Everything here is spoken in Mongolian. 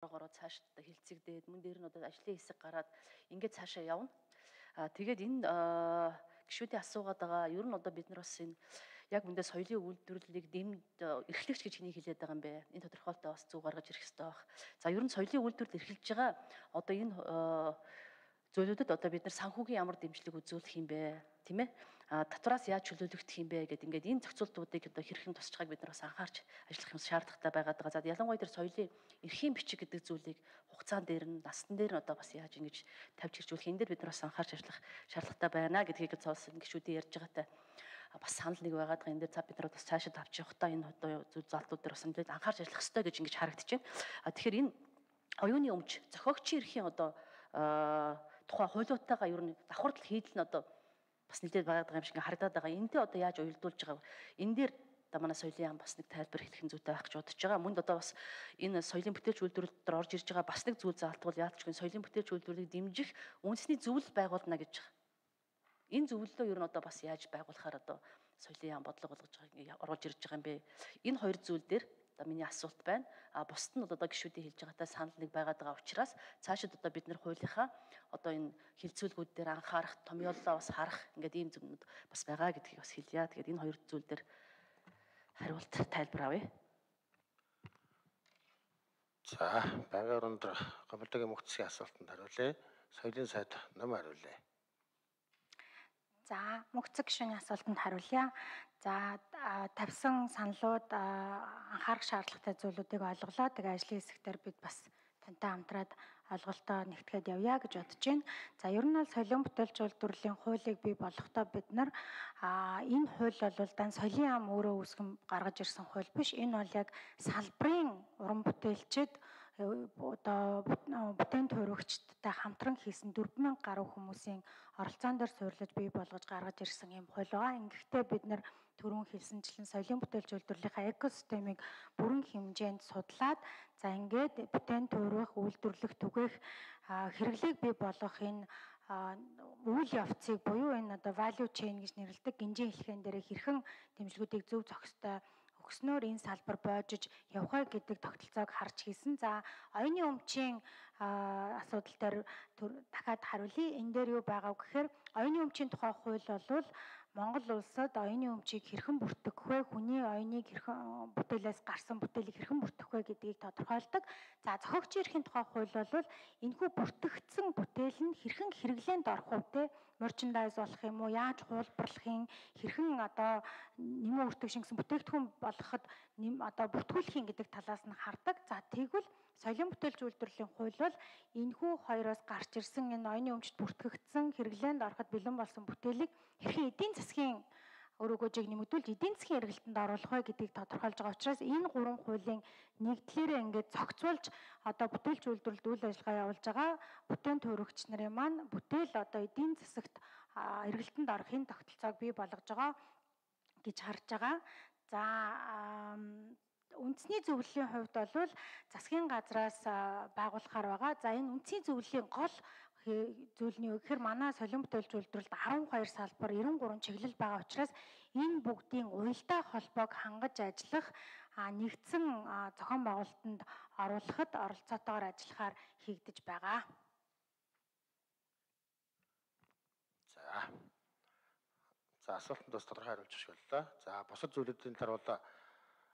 ороо цааш одоо хилцэгдээд мөн дээр нь одоо ажлын хэсэг гараад ингээд цаашаа явна. Тэгээд энэ гишүүдийн асуугаад байгаа ер нь одоо бид нар бас энэ яг үндэ соёлын үйлдвэрлэлийг дэмд эрхлэгч гэж хэнийг хэлээд байгаа юм бэ? Энэ тодорхойлолтоо бас зөв гаргаж ирэх хэрэгтэй байх. За ер нь соёлын үйлдвэрлэл эрхэлж байгаа одоо энэ зөвлөдөд одоо бид нар санхүүгийн ямар дэмжлэг үзүүлэх юм бэ? Тийм ээ? Татвараас яаж чөлөөлөгдөх юм бэ гэдэг ингээд энэ зохицуултуудыг одоо хэрхэн тусч байгааг бид нар бас анхаарч ажиллах юм шаардлагатай байгаад байгаа. За ялангуяа тэр соёлын эрхийн бичиг гэдэг зүйлийг хугацаан дээр нь настан дээр нь одоо бас яаж ингэж тавьж хэрэгжүүлэх энэ дээр бид нар бас анхаарч ажиллах шаардлагатай байна гэдгийг цаасан гишүүдийн ярьж байгаатай бас санал нэг байгаад байгаа. Энэ дээр цаг бид нар бас цаашид авч явахдаа энэ одоо зүйл залтууд дээр бас нэлээд анхаарч ажиллах хэрэгтэй гэж ингэж харагдаж байна. Тэгэхээр энэ оюуны өмч зохиогчийн эрхийн одоо тухай хуулиуттайгаа ер нь давхардал хийдэл нь одоо бас нэлээд байгаад байгаа юм шиг харагдаад байгаа. Энтэй одоо яаж уялдуулж байгаа вэ? Энэ дээр манай соёлын яам бас нэг тайлбар хэлэх нь зүйтэй байх гэж бодож байгаа. Мөн одоо бас энэ соёлын бүтээлч үйлдвэрлэлд орж ирж байгаа бас нэг зүйл заалтвал яалтчгүй соёлын бүтээлч үйлдвэрлэлийг дэмжих үндэсний зөвлөл байгуулна гэж байгаа. Энэ зөвлөлөө ер нь одоо бас яаж байгуулахаар одоо соёлын яам бодлого болгож байгаа оруулж ирж байгаа юм бэ? Энэ хоёр зүйл дээр миний асуулт байна. Бусд нь одоо гишүүдийн хэлж байгаатай санал нэг байгаад байгаа учраас цаашид одоо бид нэр хуулийнхаа одоо энэ хилцүүлгүүд дээр анхаарах, томьёоллоо бас харах ингээд ийм зүйлүүд бас байгаа гэдгийг бас хэлье. Тэгээд энэ хоёр зүйл дээр хариулт тайлбар авъя. За, байгаар өндөр гомдогийн мөхцгийн асуултанд хариулъя. Соёлын сайд ном хариулъя. За, мөхцөг гишүүний асуултанд хариулъя. За, тавьсан саналууд анхаарах шаардлагатай зүйлүүдийг олголоо. Тэгээ ажлын хэсгээр бид бас тантай хамтраад ойлголтоо нэгтгэхэд явъя гэж бодож байна. За, ер нь бол соёлын бүтээлч үйлдвэрлэлийн хуулийг бий болгохдоо бид нар энэ хууль бол дан соёлын яам өөрөө үүсгэн гаргаж ирсэн хууль биш. Энэ бол яг салбарын уран бүтээлчид одоо бүтээн төрөгчдтэй хамтран хийсэн 4000 гаруй хүмүүсийн оролцоон дээр суйрлаж бий болгож гаргаж ирсэн юм хууль байгаа. Ингэхдээ бид нар түрүүн хэлсэнчлэн соёлын бүтээлч үйлдвэрлэлийн экосистемийг бүрэн хэмжээнд судлаад за ингээд бүтээн төрөх, үйлдвэрлэх, түгээх хэрэглээг бий болгох энэ үйл явцыг буюу энэ одоо value chain гэж нэрлэдэг гинжин хэлхэн дээр хэрхэн дэмжлэгүүдийг зөв зохистой өгснөөр энэ салбар боожиж явах гэдэг тогтолцоог харж хийсэн. За, оюуны өмчийн асуудал дээр дахиад хариулъя. Энэ дээр юу байгаа вэ гэхээр оюуны өмчийн тухай хууль бол Монгол улсад оюуны өмчийг хэрхэн бүртгэх вэ? Хүний оюуныг хэрхэн бүтээлээс гарсан бүтээлийг хэрхэн бүртгэх вэ гэдгийг тодорхойлдог. За, зохиогчийн эрхийн тухай хууль бол энэхүү бүртгэгдсэн бүтээл нь хэрхэн хэрэглээнд орох вэ те? Merchandise болох юм уу? Яаж хуулбарлахын хэрхэн одоо нэмэн үртгэж гэсэн бүтээгдэхүүн болгоход одоо бүртгүүлэхийн гэдэг талаас нь хардаг. За, тэгвэл соёлын бүтээлч үйлдвэрлэлийн хууль бол энэхүү хоёроос гарч ирсэн энэ оюуны өмчт бүртгэгдсэн хэрэглээнд ороход бэлэн болсон бүтээлийг хэрхэн эдийн засгийн өр өгөөжийг нэмэгдүүлж эдийн засгийн эргэлтэнд оруулах вэ гэдгийг тодорхойлж байгаа учраас энэ гурван хуулийн нэгдлээрээ ингээд зохицуулж одоо бүтээлч үйлдвэрлэлд үйл ажиллагаа явуулж байгаа бүтээн төрөгч нарын маань бүтээл одоо эдийн засагт эргэлтэнд орохын тогтолцоог бий болгож байгаа гэж харж байгаа. За, үндэсний зөвлөлийн хувьд бол засгийн газраас байгуулахаар байгаа. За, энэ үндэсний зөвлөлийн гол зүйл нь юу гэхээр манай соёлын бүтээлч үйлдвэрлэлд 12 салбар 93 чиглэл байгаа учраас энэ бүгдийн уялдаа холбоог хангаж ажиллах нэгдсэн зохион байгуулалтанд оруулахад оролцоотойгоор ажиллахаар хийгдэж байгаа. За, асуултанд бас тодорхой хариулж өгөх боллоо. За, бусад зүйлүүдийн талаар бол